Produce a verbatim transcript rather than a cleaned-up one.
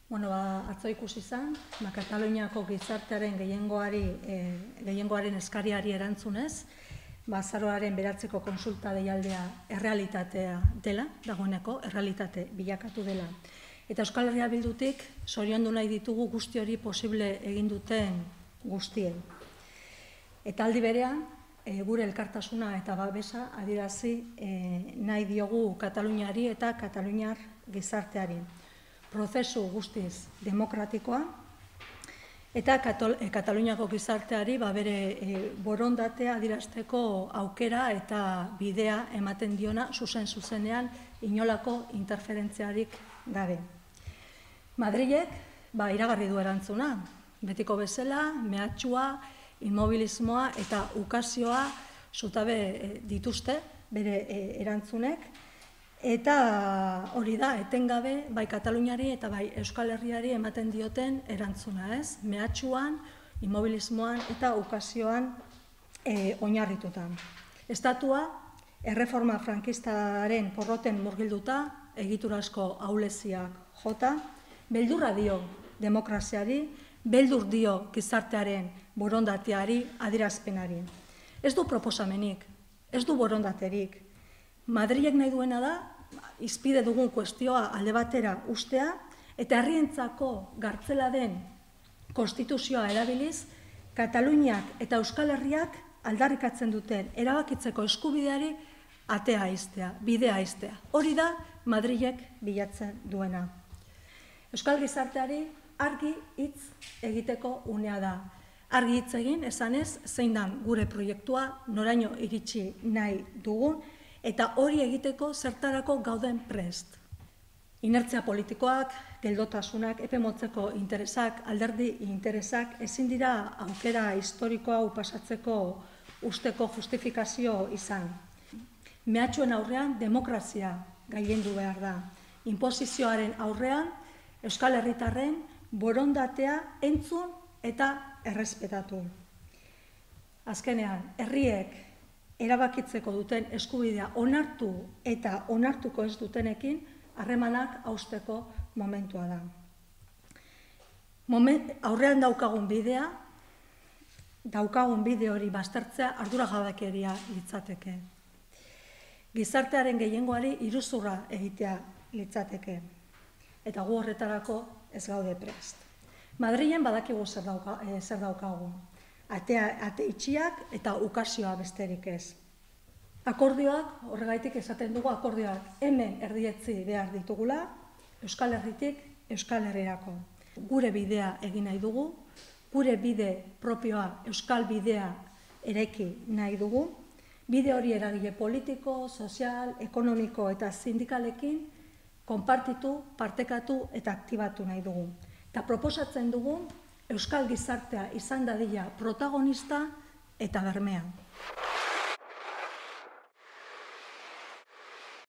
Bueno, ba, atzo ikusi izan, ba, Kataluniako gizartearen gehiengoari, e, gehiengoaren eskariari erantzunez, ba, azaroaren beratzeko konsulta deialdea errealitatea dela, dagoeneko, errealitate bilakatu dela. Eta Euskal Herria Bildutik zoriondu nahi ditugu guzti hori posible egin duten guztien. Eta aldi berean, e, gure elkartasuna eta babesa adierazi e, nahi diogu Kataluniari eta Kataluniar gizarteari. Prozesu guztiz demokratikoa eta Kataluniako gizarteari ba, bere e, borondatea adierazteko aukera eta bidea ematen diona zuzen-zuzenean inolako interferentziarik gabe. Madrilek ba, iragarri du erantzuna, betiko bezala, mehatxua, inmobilismoa eta ukazioa zutabe e, dituzte bere e, erantzunek. Eta hori da, etengabe, bai Kataluniari eta bai Euskal Herriari ematen dioten erantzuna, ez? Mehatxuan, inmobilismoan eta ukazioan e, oinarrituta. Estatua, erreforma frankistaren porroten murgilduta, egiturazko ahuleziak jota, beldurra dio demokraziari, beldur dio gizartearen borondateari, adierazpenari. Ez du proposamenik, ez du borondaterik. Madrilek nahi duena da, izpide dugun kuestioa alde batera ustea, eta herrientzako gartzela den konstituzioa erabiliz, Kataluniak eta Euskal Herriak aldarrikatzen duten erabakitzeko eskubideari atea aiztea, bidea aiztea. Hori da Madrilek bilatzen duena. Euskal gizarteari argi hitz egiteko unea da. Argi hitz egin, esanez, zein dan gure proiektua, noraino iritsi nahi dugun, eta hori egiteko zertarako gauden prest. Inertzia politikoak, geldotasunak, epe motzeko interesak, alderdi interesak, ezin dira aukera historikoa pasatzeko usteko justifikazio izan. Mehatxuen aurrean demokrazia gailendu behar da. Inposizioaren aurrean Euskal Herritarren borondatea entzun eta errespetatu. Azkenean, herriek erabakitzeko duten eskubidea onartu eta onartuko ez dutenekin harremanak hausteko momentua da. Moment, aurrean daukagun bidea, daukagun bide hori baztertzea arduragabekeria litzateke. Gizartearen gehiengoari iruzurra egitea litzateke. Eta gu horretarako ez gaude prest. Madrilen badakigu zer, dauka, eh, zer daukagu. Atea, ate itxiak eta ukazioa besterik ez. Akordioak, horregaitik esaten dugu akordioak hemen erdietzi behar ditugula, Euskal Herritik Euskal Herrirako. Gure bidea egin nahi dugu, gure bide propioa Euskal bidea eraiki nahi dugu, bide hori eragile politiko, sozial, ekonomiko eta sindikalekin konpartitu, partekatu eta aktibatu nahi dugu. Eta proposatzen dugu Euskal gizartea izan dadila protagonista eta bermea.